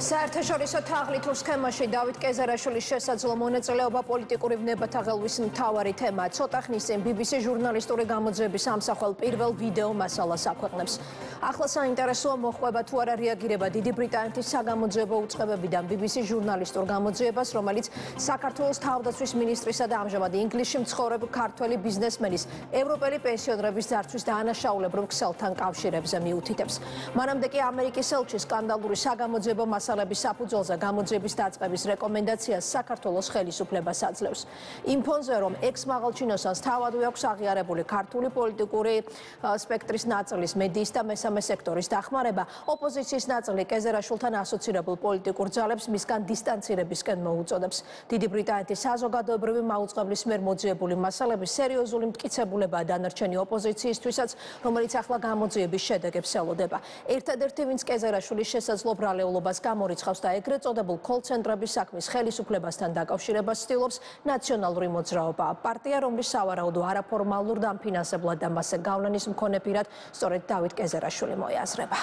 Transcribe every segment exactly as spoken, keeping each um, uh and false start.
საერთაშორისო თაღლითურ სქემაში დავით კეზერაშვილის შესაძლო მონაწილეობა პოლიტიკური ვნებათა ღელვის მთავარი თემაა. ცოტა ხნის წინ ბი ბი სი ჟურნალისტური გამოძიების ამსახველ პირველ ვიდეო მასალას აქვეყნებს. ახლა საინტერესოა მოჰყვება თუ არა რეაგირება დიდი ბრიტანეთის საგამოძიებო უწყებებიდან ბი ბი სი ჟურნალისტურ გამოძიებას, რომელიც საქართველოს თავდაცვის მინისტრისა და ამჟამად ინგლისში მცხოვრებ ქართველი ბიზნესმენის ევროპელი პენსიონერების ძარცვის დაანაშაულებრივ ქსელთან კავშირებზე მიუთითებს. მანამდე კი ამერიკის ელჩი სკანდალური საგამოძიებო მასალების საფუძველზე გამოძიების დაწყების რეკომენდაციას საქართველოს ხელისუფლებას აძლევს. იმ ფონზე, რომ ექს-მაღალჩინოსანს თავადვე აქვს აღიარებული ქართული პოლიტიკური სპექტრის ნაწილის მედიის და მესამე სექტორის დახმარება, ოპოზიციის ნაწილი კეზერაშვილთან ასოცირებულ პოლიტიკურ ძალებს მისგან დისტანცირებისკენ მოუწოდებს. დიდი ბრიტანეთის საზოგადოებრივი მაუწყებლის მიერ მოძიებული მასალების სერიოზული მტკიცებულებაა დანარჩენი ოპოზიციისთვისაც, რომელიც ახლა გამოძიების შედეგებს ელოდება. ერთადერთი, ვინც კეზერაშვილის შესაძლო ბრალეულობას გამორიცხავს და ეგრეთ წოდებულ კოლ-ცენტრების საქმის ხელისუფლებასთან დაკავშირებას ცდილობს ნაციონალური მოძრაობა. პარტია, რომლის სავარაუდო არაფორმალურ და ამფინანსებლად და მასზე გავლენის მქონე პირად სწორედ დავით კეზერაშვილი მოიაზრება.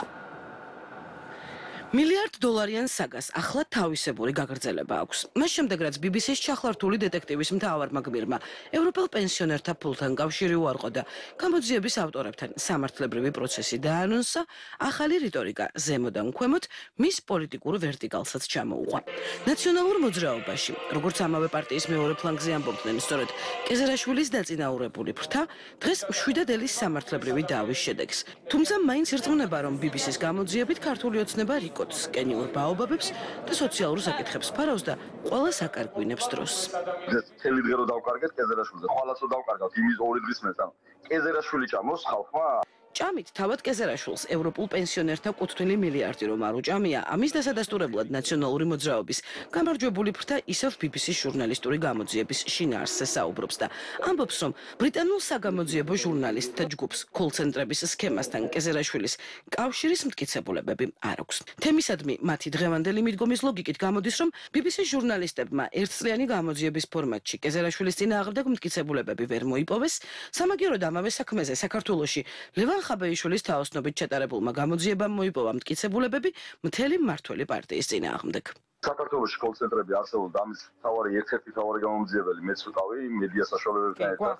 მილიარდ დოლარიან საგას ახლა თავისებური გაგრძელება აქვს. მას შემდეგ, რაც ბი ბი სის ჩახლართული დეტექტივის მთავარმა გმირმა ევროპელ პენსიონერთა ფულთან კავშირი უარყო და გამოძიების ავტორებთან სამართლებრივი პროცესი დაანონსა, ახალი რიტორიკა ზემოდან ქვემოთ მის პოლიტიკურ ვერტიკალსაც ჩამოუყვა. ნაციონალურ მოძრაობაში, როგორც ამავე პარტიის მეორე ფლანგზე ამბობდნენ, სწორედ კეზერაშვილის დაწინაურებული ფრთა დღეს მშვიდად ელის სამართლებრივი დავის შედეგს. თუმცა მაინც ირწმუნება, რომ ბი ბი სის გამოძიებით ქართული ოცნება კენიურ ბაობაბებს და სოციალურ საკითხებს ფარავს და ყველა საკარგვინებს დროს. მთელი დღე რო დავკარგეთ კეზერაშვილზე, ხვალაც რო დავკარგავთ იმის ორი დღის მეც, ანუ კეზერაშვილი ჭამოს ხალხმა. ჭამით თავად კეზერაშვილს ევროპულ პენსიონერთა კუთვნილი მილიარდი რომ არ უჭამია, ამის დასადასტურებლად ნაციონალური მოძრაობის გამარჯვებული ფრთა ისევ ბი ბი სის ჟურნალისტური გამოძიების შინაარსზე საუბრობს და ამბობს, რომ ბრიტანულ საგამოძიებო ჟურნალისტთა ჯგუფს კოლ-ცენტრების სქემასთან კეზერაშვილის კავშირის მტკიცებულებები არ აქვს. თემისადმი მათი დღევანდელი მიდგომის ლოგიკით გამოდის, რომ ბი ბი სის ჟურნალისტებმა ერთწლიანი გამოძიების ფორმატში კეზერაშვილის წინააღმდეგ მტკიცებულებები ვერ მოიპოვეს, სამაგიეროდ ამავე საქმეზე საქართველოში ლევან ხაბეიშვილის თაოსნობით ჩატარებულმა გამოძიებამ მოიპოვა მტკიცებულებები მთელი მმართველი პარტიის წინააღმდეგ. საქართველოში კოლ-ცენტრები არსებობდა, ამის თავარი ერთ-ერთი თავარი გამომძიებელი მეც ვიყავი მედია საშუალებებთან ერთად.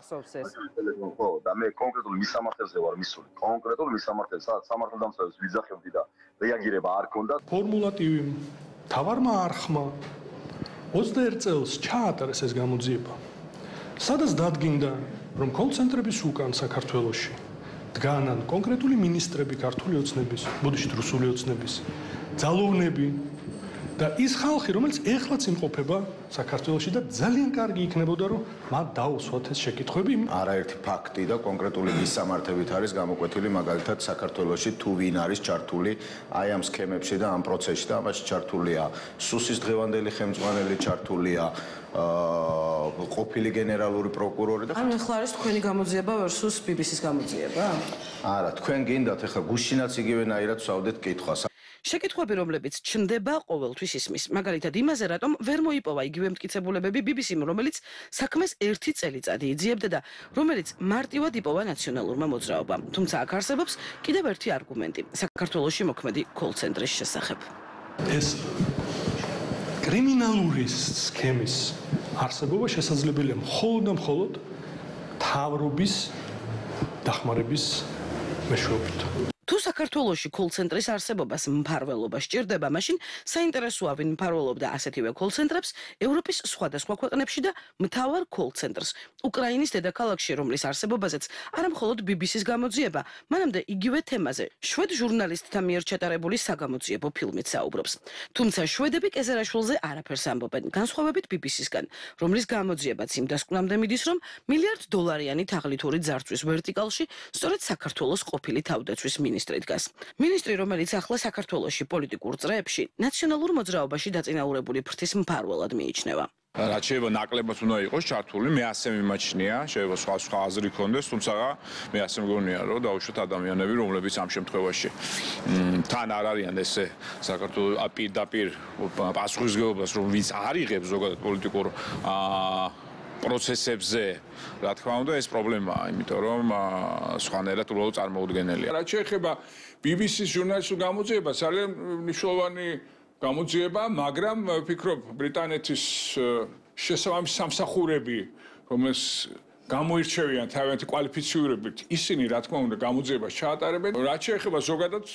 ხო, და მე კონკრეტულ მის სამართალზე ვარ მისული. კონკრეტულ მის სამართალზე, სადაც სამართალდამცავებს ვიძახებდი და რეაგირება არ ქონდა. ფორმულატივი თავარმა არხმა ოცდაერთ წელს ჩაატარეს ეს გამოძიება. სადაც დადგინდა, რომ კოლ-ცენტრების უკან საქართველოში დგანან კონკრეტული მინისტრები ქართული ოცნების, ბუდიშტ რუსული ოცნების, ძალოვნები და ის ხალხი, რომელიც ეხლაც იმყოფება საქართველოში და ძალიან კარგი იქნებოდა, რომ მათ დაუსვათ ეს შეკითხვები. არაერთი ფაქტი და კონკრეტული მისამართებით არის გამოკვეთილი, მაგალითად საქართველოში თუ ვინ არის ჩართული აი ამ სქემებში და ამ პროცესში და ამაში ჩართულია სუსის დღევანდელი ხელმძღვანელი, ჩართულია ყოფილი გენერალური პროკურორი და ანუ ახლა არის თქვენი გამოძიება versus ბი ბი სის გამოძიება? არა, თქვენ გინდათ ახლა გუშინაც იგივენაირად ვსავდეთ კითხვას. შეკითხვები, რომლებიც ჩნდება ყოველთვის ისმის. მაგალითად, იმაზე, რატომ ვერ მოიპოვა იგივე მტკიცებულებები ბი ბი სიმ, რომელიც საქმეს ერთი წელიწადი იძიებდა და რომელიც მარტივად იპოვა ნაციონალურმა მოძრაობამ. თუმცა აქ არსებობს კიდევ ერთი არგუმენტი საქართველოში მოქმედი კოლ-ცენტრის შესახებ. ეს კრიმინალური სქემის არსებობა შესაძლებელია მხოლოდ და მხოლოდ თავრობის დახმარების მეშვეობით. თუ საქართველოში კოლ-ცენტრის არსებობას მფარველობა სჭირდება, მაშინ საინტერესოა ვინ მფარველობდა ასეთივე კოლ-ცენტრებს ევროპის სხვადასხვა ქვეყნებში და მთავარ კოლ-ცენტრს უკრაინის დედაქალაქში, რომლის არსებობაზეც არა მხოლოდ ბი ბი სის გამოძიება, მანამდე იგივე თემაზე შვედ ჟურნალისტთა მიერ ჩატარებული საგამოძიებო ფილმით საუბრობს. თუმცა შვედები კეზერაშვილზე არაფერს ამბობენ, განსხვავებით ბი ბი სისგან, რომლის გამოძიებაც იმ დასკვნამდე მიდის, რომ მილიარდ დოლარიანი თაღლითური ძარცვის ვერტიკალში სწორედ საქართველოს ყოფილი თავდაცვის მინისტრი დგას. მინისტრი, რომელიც ახლა საქართველოში პოლიტიკურ წრეებში ნაციონალურ მოძრაობაში დაწინაურებული ფრთის მფარველად მიიჩნევა. რაც შეიძლება ნაკლებად უნდა იყოს ჩართული, მე ასე მიმაჩნია, შეიძლება სხვა სხვა აზრი ქონდეს, თუმცა მე ასე მგონია, რომ დაუშვათ ადამიანები, რომლებიც ამ შემთხვევაში თან არ არიან ესე საქართველოს პირდაპირ პასუხისმგებლობას, რომ ვინც არ იღებს ზოგადად პოლიტიკურ პროცესებზე, რა თქმა უნდა, ეს პრობლემაა, იმიტომ რომ სხვანაირად უბრალოდ წარმოუდგენელია. რაც შეეხება ბი ბი სის ჟურნალისტურ გამოძიებას, ძალიან მნიშვნელოვანი გამოძიება, მაგრამ ვფიქრობ ბრიტანეთის შესაბამისი სამსახურები, რომელს გამოირჩევიან თავიანთი კვალიფიციურებით, ისინი რა თქმა უნდა გამოძიებას ჩაატარებენ. რაც შეეხება ზოგადად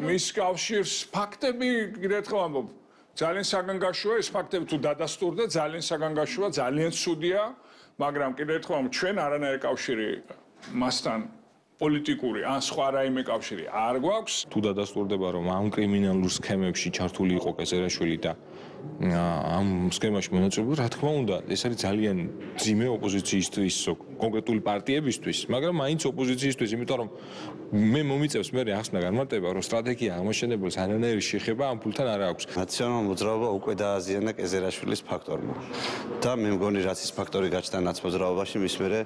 მის კავშირს, ფაქტები, კიდევ ერთხელ ამბობ, ძალიან საგანგაშოა, ეს ფაქტები თუ დადასტურდა, ძალიან საგანგაშოა, ძალიან ცუდია, მაგრამ კიდევ ერთხელ ამბობ, ჩვენ არანაირი კავშირი მასთან პოლიტიკური ან სხვა რაიმე კავშირი არ გვაქვს. თუ დადასტურდება, რომ ამ კრიმინალურ სქემებში ჩართული იყო კეზერაშვილი და ამ სქემაში მონაწილეობა, რა თქმა უნდა, ეს არის ძალიან ძიმე ოპოზიციისთვის, კონკრეტული პარტიებისთვის, მაგრამ მაინც ოპოზიციისთვის, იმიტომ რომ მე მომიწევს მე ახსნა განმარტება, რომ სტრატეგია აღმაშენებელს არანაირი შეხება ამ ფულთან არ აქვს. ნაციონალურ მოძრაობა უკვე დააზიანა კეზერაშვილის ფაქტორმა. და მე მგონი რაც ის ფაქტორი გაჩნდა ნაცმოძრაობაში, მის მერე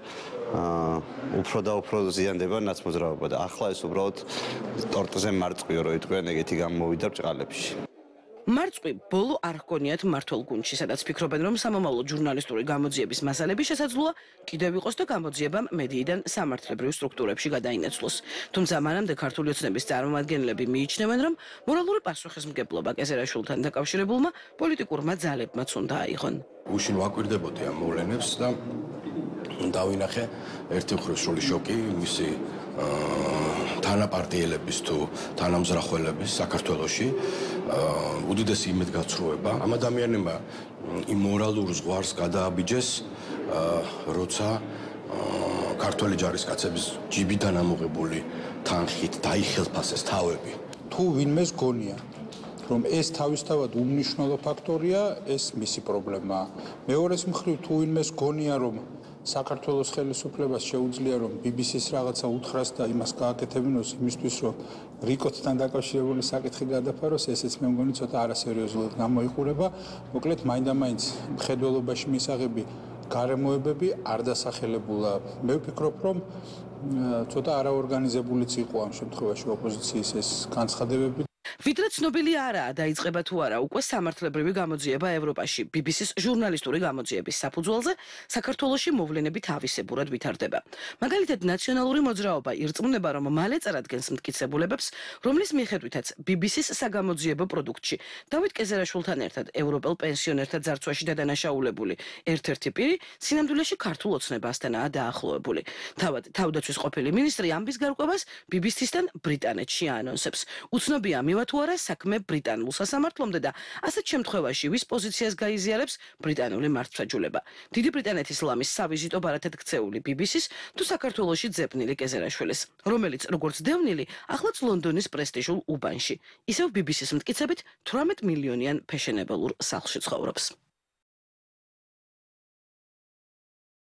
უფრო და უფრო ზიანდება ნაცმოძრაობა და ახლა ეს უბრალოდ ტორტზე მარწყვიო რო იტყვიან, ეგეთი გამოვიდა ბრჭყალებში. მარწყვი ბოლო არ ჰგონიათ მართლ გუნდში, სადაც ფიქრობენ, რომ სამომავლო ჟურნალისტური გამოძიების მასალები შესაძლოა კიდევ იყოს და გამოძიებამ მედიიდან სამართლებრივ სტრუქტურებში გადაინაცვლოს. თუმცა მანამდე ქართული ოცნების წარმომადგენლები მიიჩნევენ, რომ მორალური პასუხისმგებლობა კეზერაშვილთან დაკავშირებულმა პოლიტიკურმა ძალებმაც უნდა აიღონ. უშინ ვაკვირდებოდი ამ მოვლენებს და დავინახე ერთი მხრივ სრული შოკი მისი თანაპარტიელების თუ თანამზრახველების საქართველოში უდიდესი იმედგაცრუება ამ ადამიანებმა იმ მორალურ ზღვარს გადააბიჯეს როცა ქართველი ჯარისკაცების ჯიბიდან ამოღებული თანხით დაიხელფასეს თავები. თუ ვინმეს გონია რომ ეს თავისთავად უმნიშვნელო ფაქტორია, ეს მისი პრობლემაა. მეორეს მხრივ თუ ვინმეს გონია რომ საქართველოს ხელისუფლებას შეუძლია რომ ბი ბი სის რაღაცა უთხრას და იმას გააკეთებინოს იმისთვის რომ რიკოტთან დაკავშირებული საკითხი გადაფაროს, ესეც მე მგონი ცოტა არასერიოზულად გამოიყურება. მოკლედ მაინდა-მაინც მხედველობაში მისაღები გარემოებები არ დასახელებულა. მე ვფიქრობ რომ ცოტა არაორგანიზებულიც იყო ამ შემთხვევაში ოპოზიციის ეს განცხადებები. ვიდრე ცნობილი არაა დაიწყება თუ არა უკვე სამართლებრივი გამოძიება ევროპაში. ბი ბი სის ჟურნალისტური გამოძიების საფუძველზე საქართველოში მოვლენები თავისებურად ვითარდება. მაგალითად, ნაციონალური მოძრაობა ირწმუნება, რომ მალე წარადგენს მტკიცებულებებს, რომლის მიხედვითაც ბი ბი სის საგამოძიებო პროდუქტში დავით კეზერაშვილთან ერთად ევროპელ პენსიონერთა ძარცვაში დადანაშაულებული ერთ-ერთი პირი სინამდვილეში ქართულ ოცნებასთანაა დაახლოებული. თავად თავდაცვის ყოფილი მინისტრი ამბის გარკვევას ბი ბი სისთან ბრიტანეთში აანონსებს. უცნობია მივა თუ არა საქმე ბრიტანულ სასამართლომდე და ასეთ შემთხვევაში ვის პოზიციას გაიზიარებს ბრიტანული მართლმსაჯულება. დიდი ბრიტანეთის ლამის სავიზიტო ბარათად ქცეული ბი ბი სის თუ საქართველოში ძებნილი კეზერაშვილის, რომელიც როგორც დევნილი, ახლაც ლონდონის პრესტიჟულ უბანში, ისევ ბი ბი სის მტკიცებით თვრამეტ მილიონიან ფეშენებელურ სახლში ცხოვრობს.